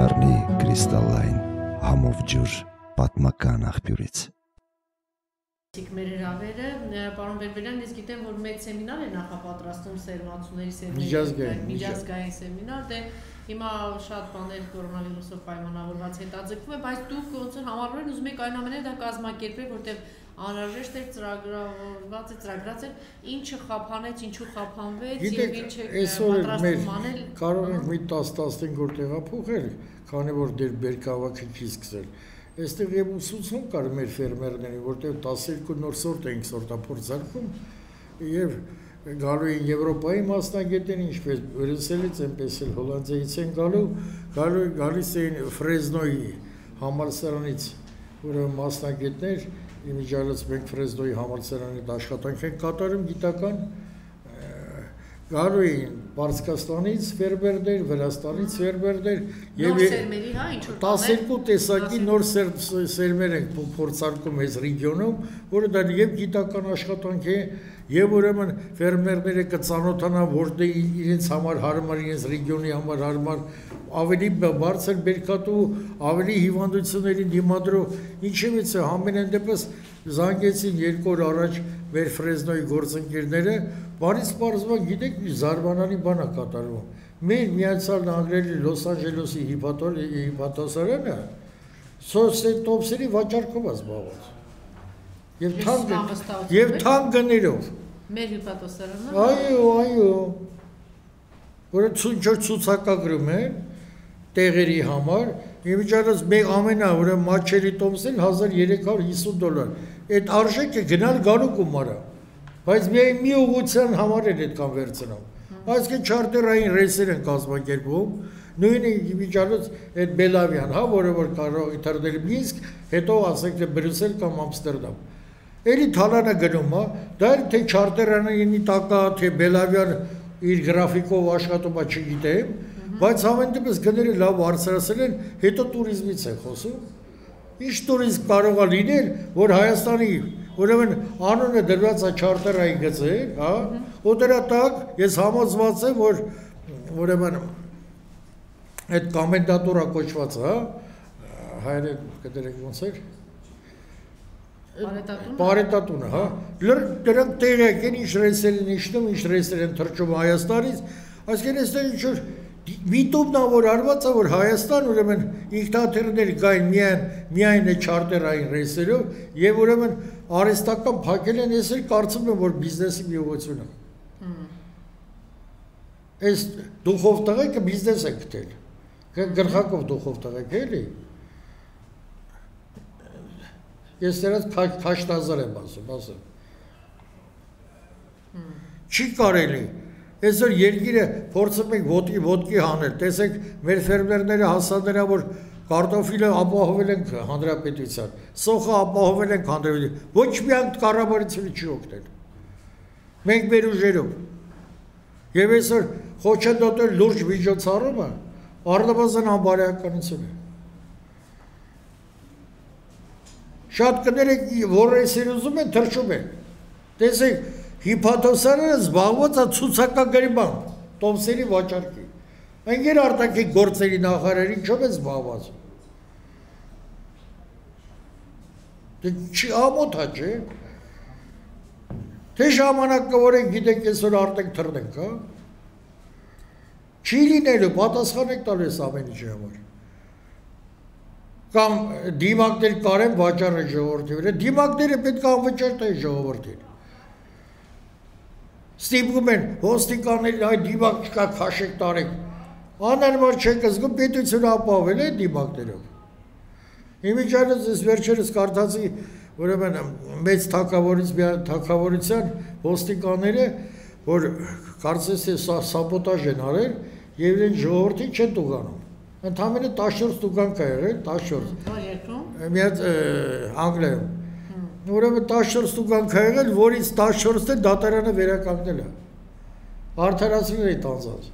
կդառնի կրիստալային համով ջուր պատմական աղբյուրից։ Մեր հրավերը, պարոն Բերբերյան, ես գիտեմ, որ մեծ սեմինար է նախապատրաստում սերմացուների միջազգային սեմինար, դե հիմա շատ բաներ կորոնավիրուսով պայմանավորված հետաձգվում է, բայց դուք ոնց որ համառորեն ուզում եք այնուամենայնիվ դա կազմակերպել, որտեղ անհրաժեշտ էր ծրագրված էր, ինչը խափանեց, ինչու խափանվեց եւ ինչ է պատրաստում անել։ Կարող ենք մի 10-15 օր տեղափոխել, քանի որ դեր բերքավաքը չի սկսել։ Այստեղ եւ ուսուցում կար մեր ֆերմերներին, որտեղ 12 նոր սորտ էինք սորտափորձարկում եւ գալու էին Եվրոպայի մասնագետներ, ինչպես Բրյուսելից, այնպես էլ Հոլանդիայից են գալիս էին Ֆրեզնոյի համալսարանից, ուրեմն մասնագետներ, իմիջիալից մենք Ֆրեզնոյի համալսարանի աշխատանք ենք կատարում գիտական, գալու էին Պարսկաստանից ֆերմերներ, Վրաստանից ֆերմերներ եւ 12 տեսակի նոր սերմեր ենք փորձարկում այս ռեգիոնում, որը դա եւ գիտական աշխատանք է, եւ ուրեմն ֆերմերները կծանոթանան, որտեղ իրենց համար հարմար, իրենց ռեգիոնի համար հարմար, ավելի բարձր բերքատու, ավելի հիվանդություններին դիմադրող, ինչևից է ամենայն դեպս զանգեցին 2 օր առաջ մեր Ֆրեզնոյի գործընկերները, բարից պարզվան գիտեք մի զարմանալի բան է կատարվում։ Մեր Միացյալ Նահանգների Լոս Անջելեսի հիպատոսարանը սոցտոպսերի վաճառքով է զբաղված։ Եվ թանկ գներով։ Մեր հիպատոսարանը։ Այո։ Որը ցուցակագրում են տեղերի համար, իմիջիալից մեկ ամենա ուրեմն մաչերի տոմսն $1350։ Այդ արժեքը գնալ գալու գումարը, բայց միայն մի ուղղության համար են այդքան վերցնում։ Այսինքն չարտերային ռեյսեր են կազմակերպում, նույն իմիջիալից այդ Բելավիան, որը որ կարող է թռնել Մինսկ, հետո ասենք թե Բրյուսել կամ Ամստերդամ։ Էլի թալանը գնում է, դա էլ թե չարտերային տակա, թե Բելավիան իր գրաֆիկով աշխատում է, չգիտեմ, բայց ամեն դեպս գները լավ բարձրացել են, հետո տուրիզմից են խոսում։ Ինչ տուրիզմ կարող է լինել, որ Հայաստանի ուրեմն անունը դրված է չարտերային գծեր, հա, ու դրա տակ ես համոզված եմ, որ ուրեմն այդ կոմենդատուրա կոչված, հա, հայերեն կդրեք ոնց էր։ Պարետատունը, հա, դրանք տեղյակ են, ինչ ռեյսեր են իջնում, ինչ ռեյսեր են թռչում Հայաստանից, այսինքն այստեղ ինչ-որ միտումն է, որ արված է, որ Հայաստան ուրեմն ինքնաթիռներ գային միայն է չարտերային ռեյսերով եւ ուրեմն արհեստական փակել են, ես էլ կարծում եմ, որ բիզնեսի մի ուղղություն է։ Այս դուխով տղեկը բիզնես է գտել։ Գլխակով դուխով տղեկ էլի։ Ես դրանց քաշտազար եմ ասում։ Չի կարելի։ Այսօր երկիրը փորձում ենք ոտքի հանել, տեսեք մեր ֆերմերները հասանելա, որ կարտոֆիլը ապահովել ենք հանրապետության, սոխը ապահովել ենք հանրապետության, ոչ մի անգամ կառավարությունը չի օգնել։ Մենք մեր ուժերով։ Եվ այսօր խոչընդոտել լուրջ միջոցառումը առնվազն անբարոյականություն է։ Շատ կներեք, որ այսեր ուզում են, թռչում են։ Տեսեք, հիպատոսարանը զբաղված է ցուցակագրի բան, տոմսերի վաճառքի։ Ընկեր արտաքին գործերի նախարարը ինչով է զբաղված։ Դե չի ամոթ է, չէ։ Թե ժամանակը որ ենք գիտենք այսօր արտենք թռնենք, հա։ Չի լինելու, պատասխան եք տալու ես ամեն ինչի համար։ Կամ դիմակներ կարեն վաճառը ժողովրդի վրա, դիմակները պետք է անվճար տային ժողովրդին։ Ստիպում են ոստիկանների այդ դիմակ չկա քաշեք տարեք, անարմար չեք զգում պետությունը ապահովել է դիմակներով։ Իմիջիալից ես վերջերս կարդացի, ուրեմն մեծ թագավորության ոստիկանները, որ կարծես թե սաբոտաժ են արել եւ իրեն ժողովրդին չեն տուգանում։ Ընդամենը 14 տուգանք է եղել, 14։ Որ երկրում։ Միած Անգլիայում։ Ուրեմն 14 տուգանք է եղել, որից 14-ը դատարանը վերականգնել է։ Արդարացրել է տանձած։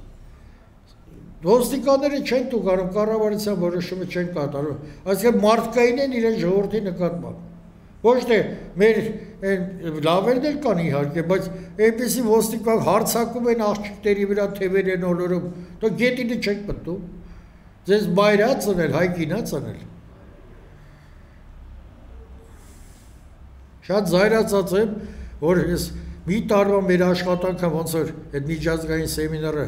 Ոստիկանները չեն տուգանում, կառավարության որոշումը չեն կատարում։ Այսինքն մարդկային են իրեն ժողովրդի նկատմամբ։ Ոչ թե մեր լավերն էլ կան իհարկե, բայց այնպեսի ոստիկան հարցակում են աղջիկների վրա, թևեր են ոլորում, դու գետինը չեք մտնում։ Ձեզ մայրա ծնել, հայկինա ծնել։ Շատ զայրացած եմ, որ ես մի տարվա մեր աշխատանքը ոնց որ այդ միջազգային սեմինարը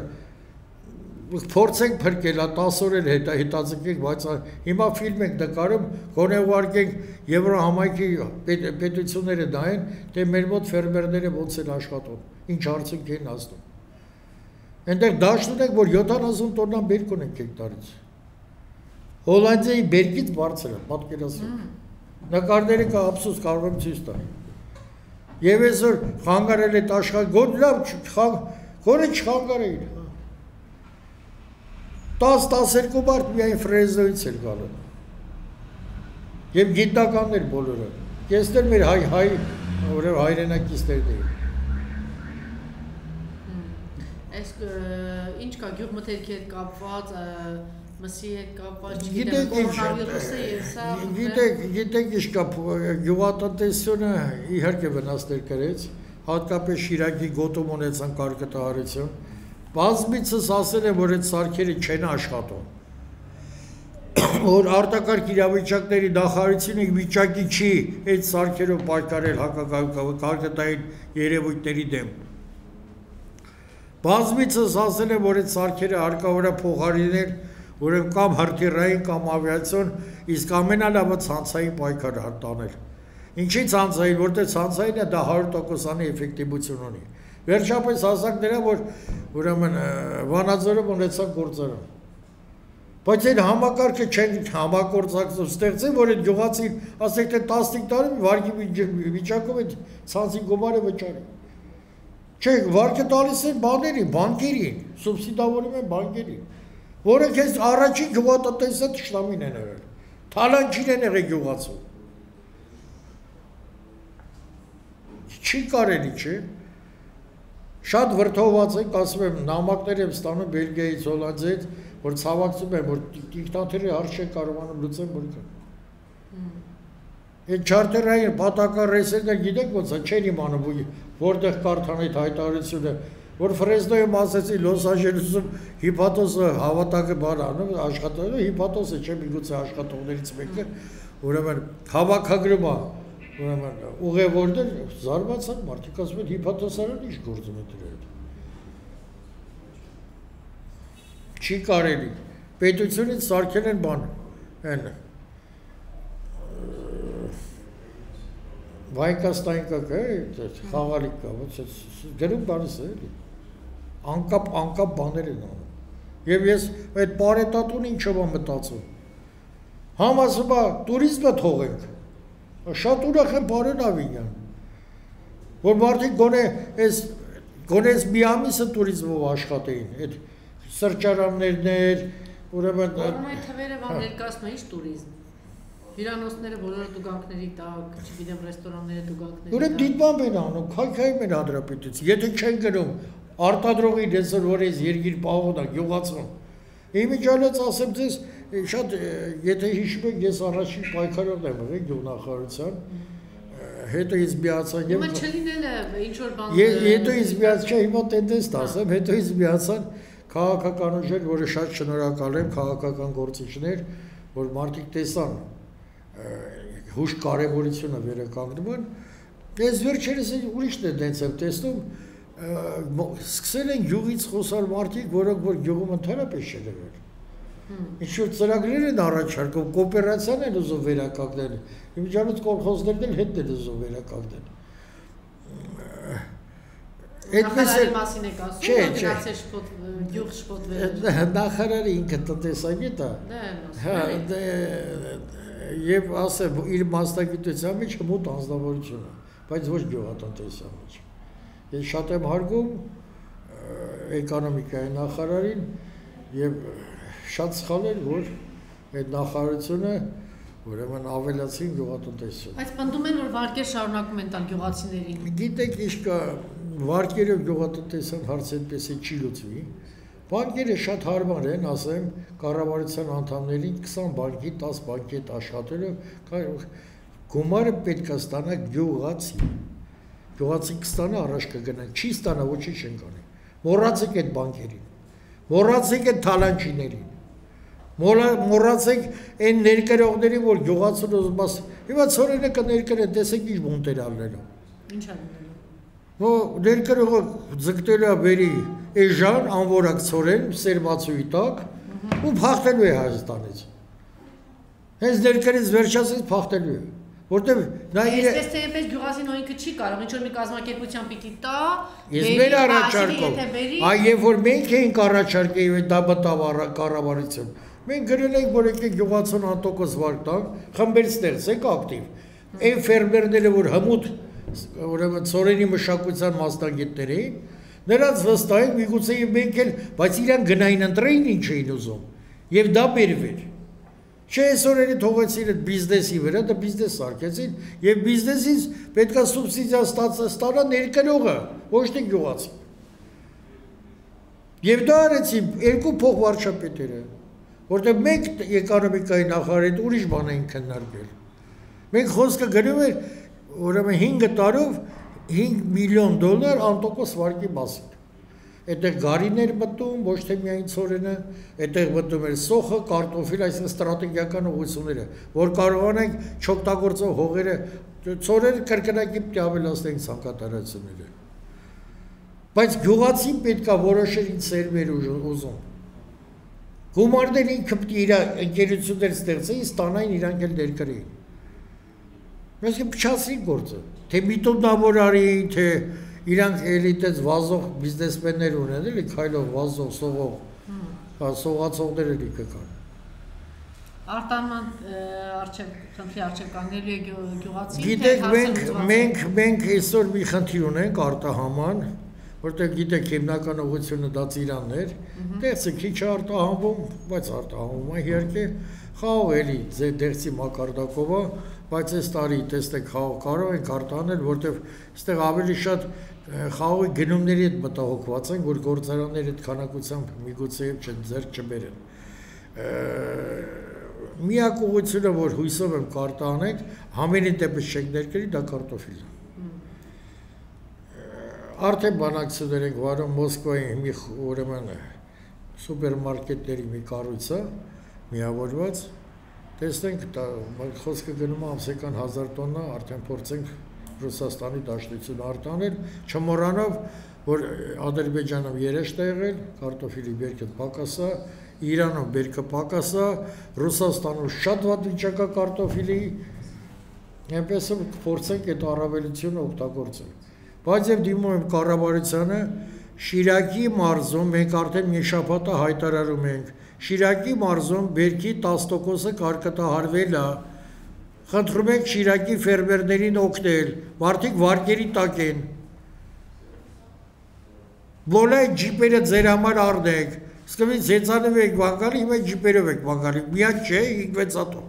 փորձենք փրկել, 10 օր էլ հետաձգենք, բայց հիմա ֆիլմ ենք նկարում, գոնե ուղարկենք Եվրոհամայնքի պետությունները նայեն, թե մեր մոտ ֆերմերները ոնց են աշխատում, ինչ արդյունք են հասնում։ Այնտեղ դաշտ ունենք, որ 70 տոննա բերք ունենք հեկտարից։ Հոլանդիայի բերքից բարձր է, պատկերացրեք։ Նկարները կա ափսոս կարող եմ ցույց տալ։ Եվ այսօր խանգարել է աշխարհ, գոնե չխանգարեին։ 10-12 մարդ միայն Ֆրեզնոյից էր գալու։ Եվ գիտնականներ բոլորը։ Կեսներ մեր հայրենակիցներն էին։ Այս ինչ կա գյուղմթերքի հետ կապված, մսի հետ կապված, չգիտեմ, կորոնավիրուսը եւ սա։ Գիտեք ինչ կա, գյուղատնտեսությունը իհարկե վնասներ կրեց, հատկապես Շիրակի գոտում ունեցան կարկտահարություն։ Բազմիցս ասել եմ, որ այդ սարքերը չեն աշխատում, որ արտակարգ իրավիճակների նախարարությունը վիճակի չի այդ սարքերով պայքարել հակակարգային երևույթների դեմ։ Բազմիցս ասել եմ, որ այդ սարքերը հարկավոր է փոխարինել, ուրեմն կամ հրթիռային կամ ավիացիոն, իսկ ամենալավը ցանցային պայքար տանել։ Ինչի ցանցային, որտեղ ցանցայինը դա 100%-անի էֆեկտիվություն ունի։ Վերջապես հասանք դրա, որ ուրեմն Վանաձորում ունեցան գործարան։ Բայց այդ համակարգը չեն համագործակցում, ստեղծեն, որ այդ գյուղացին, ասեք թե 15 տարի վարկի վիճակով այդ ցանցի գումարը վճարի։ Չէ, վարկը տալիս են բաներին, բանկերին, սուբսիդավորում են բանկերին, որը քեզ առաջին գյուղատնտեսը թշնամին են եղել։ Թալանչին են եղել գյուղացու։ Չի կարելի, չէ։ Շատ վրդովված ենք, ասում եմ, նամակներ եմ ստանում Բելգիայից, Հոլանդիայից, որ ցավակցում եմ, որ դիկտատորի հարց չեն կարողանում լուծել բրկը։ Այդ չարտերային պատական ռեյսերները գիտեք ոնց է, չեն իմանում, որտեղ կարդան այդ հայտարարությունը, որ Ֆրեզնոյում ասեցի Լոս Անջելեսում հիփաթոսը հավատակը բան անում, աշխատողը հիփաթոսը չէ, միգուցե աշխատողներից մեկը, ուրեմն հավաքագրում է, ուրեմն ուղևորներ զարմացան, մարդիկ ասում են հիփաթոսարան ինչ գործում է դրա հետ։ Չի կարելի, պետությունից սարքել են բան, են, վայկաստայնկա կա, խաղալիք կա, գրում բանս է, անկապ բաներ են անում։ Եվ ես այդ պարետատուն ինչով եմ մտածում, համ ասում է տուրիզմը թողենք, շատ ուրախ եմ բարոն Ավինյան, որ մարդիկ գոնե այս մի ամիսը տուրիզմով աշխատեին, այդ սրճարաններն էր, ուրեմն… Որոնայ թվերը վան ներկասում է ինչ տուրիզմ, հյուրանոցները բոլորը տուգանքների տակ, չգիտեմ ռեստորանները տուգանքների տակ… Ուրեմն դիտմամբ են անում, քայքայում են հանրապետություն, եթե չեն գնում, արտադրողի դեսր, որ այս երկիր պահոն է, գյուղացվում։ Իմիջիալից ասեմ ձեզ, շատ, եթե հիշում եք, ես առաջին պայքարողն եմ եղել գյուղնախարարության, հետո ինձ միացան… Հիմա չլինել է ինչ-որ բան… Հետո ինձ միացան, չէ, հիմա տենդենս ասեմ, հետո ինձ միացան քաղաքական ուժեր, որը շատ շնորհակալ եմ, քաղաքական գործիչներ, որ մարդիկ տեսան հուշ կարևորությունը վերականգնում են, ես վերջերս ուրիշ տենդենս եմ տեսնում, սկսել են գյուղից խոսալ մարդիկ, որոնք որ գյուղում ընդհանրապես չեն եղել։ Ինչ-որ ծրագրեր են առաջարկում, կոոպերացիան են ուզում վերականգնել, իմիջիալից կոլխոզներն էլ հետն են ուզում վերականգնել։ Նախարարի մասին եք ասում, որ գնացել գյուղ շփոթվել։ Նախարարը ինքը տնտեսագետ է։ Եվ ասեմ, իր մասնագիտության մեջ մոտ անձնավորություն է, բայց ոչ գյուղատնտեսության մեջ։ Ես շատ եմ հարգում էկոնոմիկայի նախարարին եւ շատ սխալ էր, որ այդ նախարարությունը ուրեմն ավելացին գյուղատնտեսություն։ Բայց պնդում են, որ վարկեր շարունակում են տալ գյուղացիներին։ Գիտեք, ինչ կա, վարկերով գյուղատնտեսության հարցը այդպես է չի լուծվի։ Բանկերը շատ հարմար են, ասեմ, կառավարության անդամներին 20 բանկի, 10 բանկի հետ աշխատելով, գումարը պետք է ստանա գյուղացի։ Գյուղացի կստանա, առաջ կգնա, չի ստանա, ոչինչ չեն կանի։ Մոռացեք այդ բանկերին, մոռացեք այդ թալանչիներին, Մոռացեք այն ներկրողներին, որ գյուղացուն ուզում ասի, հիմա ծորենը կներկրե, տեսեք ինչ բունտեր ալնելու։ Ինչ ալնելու։ Ներկրողը ձգտելու է բերի էժան, անորակ ծորեն, սերմացուի տակ, ու փախտելու է Հայաստանից։ Հենց ներկրից վերջացից փախտելու է։ Որտեւ նա իր Այսպես թե այնպես գյուղացին ինքը չի կարող, ինչ որ մի կազմակերպության պիտի տա, ես մեր առաջարկով, եւ որ մենք էինք առաջարկել այդ դա բտավ կառավարություն։ Մենք գրել ենք, որ եկեք գյուղացուն անտոկոս վարկ տանք, խմբեր ստեղծենք ակտիվ։ Այն ֆերմերները, որ հմուտ ուրեմն ծորենի մշակության մասնագետներ էին, նրանց վստահենք միգուցե մենք էլ, բայց իրան գնային ընտրեին ինչ էին ուզում, եւ դա բերվեր։ Չէ, այսօր թողեցին այդ բիզնեսի վրա, դա բիզնես սարքեցին, եւ բիզնեսից պետքա սուբսիդիա ստանա ներկրողը, ոչ թե գյուղացին։ Եվ դա արեցին երկու փոխվարչապետերը, որտեղ մենք էկոնոմիկայի նախարարի ուրիշ բան էին քննարկել։ Մենք խոսքը գնում էր ուրեմն 5 տարով $5 միլիոն անտոկոս վարկի մասին։ Այդտեղ գարիներ մտնում, ոչ թե միայն ծորենը, այդտեղ մտնում էր սոխը, կարտոֆիլ, այսինքն ստրատեգիական ուղղությունները, որ կարողանանք չօգտագործող հողերը, ծորերը կրկնակի պետք է ավելացնենք ցանկատարությունները։ Բայց գյուղացին պետք է որոշեր ինչ սերմեր ուզում։ Գումարներ ինքը պետք է իր ընկերություններ ստեղծեին, ստանային իրանք էլ ներկրեին։ Մենք փչացրին գործը, թե միտումնավոր արին, թե իրանք էլիտես վազող բիզնեսմեններ ունեն, էլի քայլող, վազող, սողող, սողացողներ էլի կկան։ Արտանման խնդրի արժեք կանգնելու է գյուղացին։ Գիտեք, մենք այսօր մի խնդիր ունենք արտահաման, որտեղ գիտեք հիմնական ուղղությունը դա Ծիրաններ, դեղցը քիչ արտահանվում, բայց արտահանվում է իհարկե, խաղող էլի դեղցի մակարդակով է, բայց այս տարի տեսեք խաղող կարող ենք արտահանել, որտեղ այստեղ ավելի շատ խաղողի գնումների հետ մտահոգված են, որ գործարանները այդ քանակությամբ միգուցե ձեռք չբերեն։ Միակ ուղղությունը, որ հույսով եմ կարտահանենք, համենայն դեպս չենք ներկրի, դա կարտոֆիլն է։ Արդեն բանակցություններ ենք վարում Մոսկվայի մի ուրեմն սուպերմարկետների մի կառույցը միավորված, տեսնենք խոսքը գնում է ամսական 1000 տոննա, արդեն փորձենք Ռուսաստանի դաշտությունը արտանել, չմոռանով, որ Ադրբեջանում երաշտ է եղել, կարտոֆիլի բերքը պակաս է, Իրանում բերքը պակաս է, Ռուսաստանում շատ վատ վիճակա կարտոֆիլի, այնպես փորձենք այդ առավելությունը օգտագործել։ Բայց եւ դիմում եմ կառավարությանը, Շիրակի մարզում մենք արդեն մի շաբաթ հայտարարում ենք, Շիրակի մարզում բերքի 10%-ը կարկտահարվել է։ Խնդրում ենք Շիրակի ֆերմերներին օգնել, մարդիկ վարկերի տակ են։ Բոլոր ջիպերը ձեր համար առնեք, սկզբից հեծանով եք բանկալի, հիմա ջիպերով եք բանկալի, միակ չէ 5-6 հատով։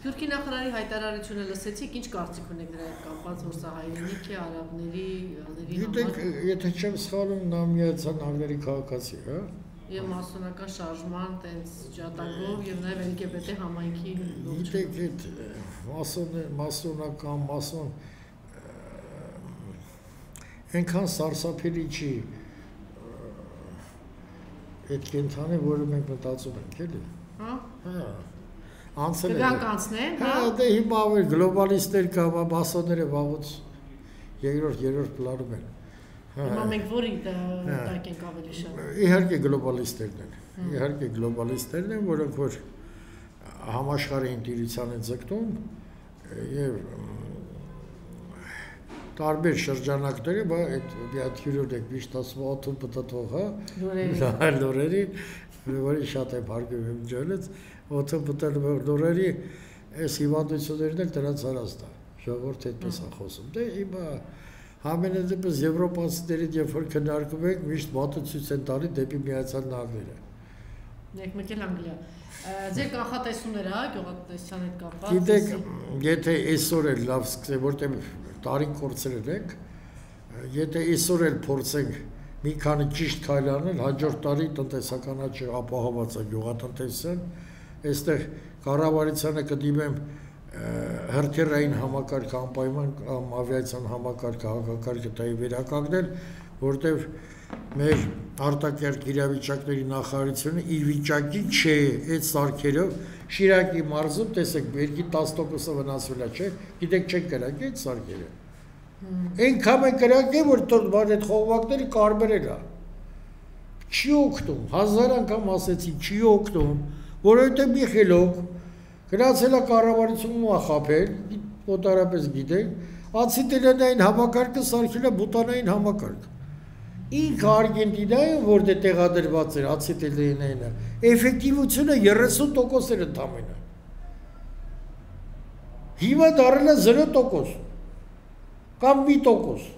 Սփյուռքի նախարարի հայտարարությունը լսեցիք, ինչ կարծիք ունեք դրա հետ կապված, որ սա հայրենիք է, արաբների, ազերի համար։ Գիտեք, եթե չեմ սխալվում, նա միացան անգլերի քաղաքացի, հա։ Եվ մասոնական շարժման տենց ջատագով եւ նաեւ LGBT համայնքի գիտեք, այդ մասոնական այնքան սարսափելի չի այդ կենթանը, որը մենք մտածում ենք, էլի։ Հա։ Անցել է։ Անցնեն, հա։ Դե հիմա ավելի գլոբալիստներ կա, մասոնները վաղուց երրորդ պլանում են։ Հիմա մենք որի տակ ենք ավելի շատ։ Իհարկե գլոբալիստներն են, որոնք որ համաշխարհային տիրության են ձգտում եւ տարբեր շրջանակների, բա այդ հյուրերն եք միշտ ասում օթում պտտվող, հա, լորերի, որի շատ է բարգում եմ ջորից, օթում պտտվող լորերի այս հիվանդություններն էլ դրանց արածն է, ժողովուրդը այդպես է խոսում։ Դե հիմա Համենայնդեպս եվրոպացիներին երբ որ քննարկում ենք, միշտ մատուցույց են տալի դեպի Միացյալ Նահանգները։ Մեկ էլ Անգլիա։ Ձեր կանխատեսումները, հա, գյուղատնտեսության հետ կապված։ Գիտեք, եթե այսօր էլ լավ սկսենք, որտեղ տարին կորցրել ենք, եթե այսօր էլ փորձենք մի քանի ճիշտ քայլ անել, հաջորդ տարի տնտեսական աճը ապահովված է գյուղատնտեսության, այստեղ կառավարությանը կդիմեմ հրթիռային համակարգ անպայման կամ ավիացիոն համակարգ հակակարգը տայի վերականգնել, որտեղ մեր արտակարգ իրավիճակների նախարարությունը իր վիճակի չէ այդ սարքերով Շիրակի մարզում, տեսեք, երկի 10%-ը վնասվել է, չէ՞, գիտեք չեն կրակի այդ սարքերը։ Այնքան են կրակի, որ այդ խողովակները կարմրել է։ Չի օգնում, 1000 անգամ ասեցի, չի օգնում, որովհետև մի խելոք գնացել է կառավարությունում խաբել, օտարապես գիտեք, ացետիլենային համակարգը սարքել է բուտանային համակարգ։ Ինքը Արգենտինայում, որ դե տեղադրված էր ացետիլենայինը, էֆեկտիվությունը 30% էր ընդամենը։ Հիմա դառել է 0% կամ 1%։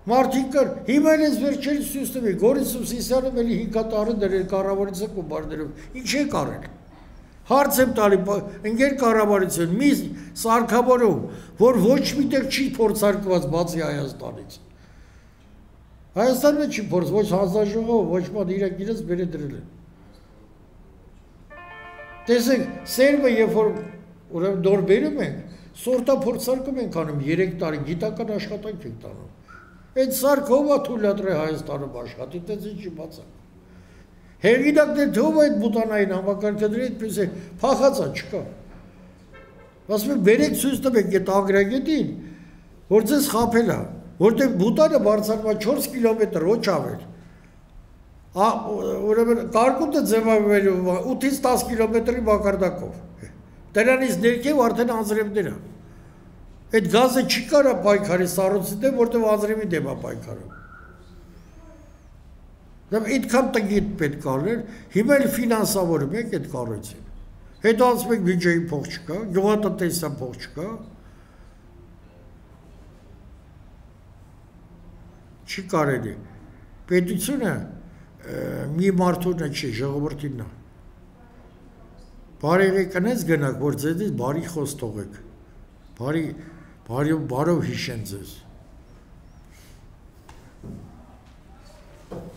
Մարդիկ կար, հիմա էլ ես վերջերս ցույց տվի, Գորիսով Սիսյանում էլի 5 տարի դրել կառավարության կոմբարներով, ինչ է կարել։ Հարց եմ տալի, ընկեր կառավարություն, մի սարքավորում, որ ոչ միտեղ չի փորձարկված բացի Հայաստանից։ Հայաստանը չի փորձ, ոչ հանձնաժողով, ոչ մոտ իրենք իրենց բերե դրել են։ Տեսեք, սերմը երբ որ ուրեմն նոր բերում ենք, սորտափորձարկում ենք անում 3 տարի, գիտական աշխատանք ենք տանում։ Այդ սարքը ով է թույլատրել Հայաստանում աշխատի, դες ինչի բացակ։ Հեղինակներ թող այդ բուտանային համակարգը դրի, այդպես է, փախածա չկա։ Ասում եմ, բերեք ցույց տվեք այդ ագրագետին, որ ձեզ խաբել է, որտեղ բուտանը բարձրանում է 4 կիլոմետր, ոչ ավել։ Ուրեմն կարկուտը ձևավորվում է 8-ից 10 կիլոմետրի մակարդակով։ Դրանից ներքև արդեն անձրևներ է։ Այդ գազը չի կարա պայքարի սառույցի դեմ, որտեղ անձրևի դեմ է պայքարում։ Դա այդքան տգիտ պետք է լիներ, հիմա էլ ֆինանսավորում եք այդ կառույցին։ Հետո ասում եք բյուջեի փող չկա, գյուղատնտեսության փող չկա։ Չի կարելի։ Պետությունը մի մարդունը չի, ժողովրդինն է։ Բարեղի կնես գնաք, որ ձեզից բարի խոս թողեք։ Բարով հիշեն ձեզ։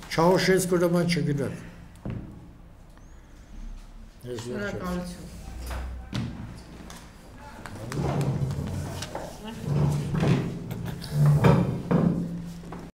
Չաուշեսկու նման չգնաք։ Շնորհակալություն։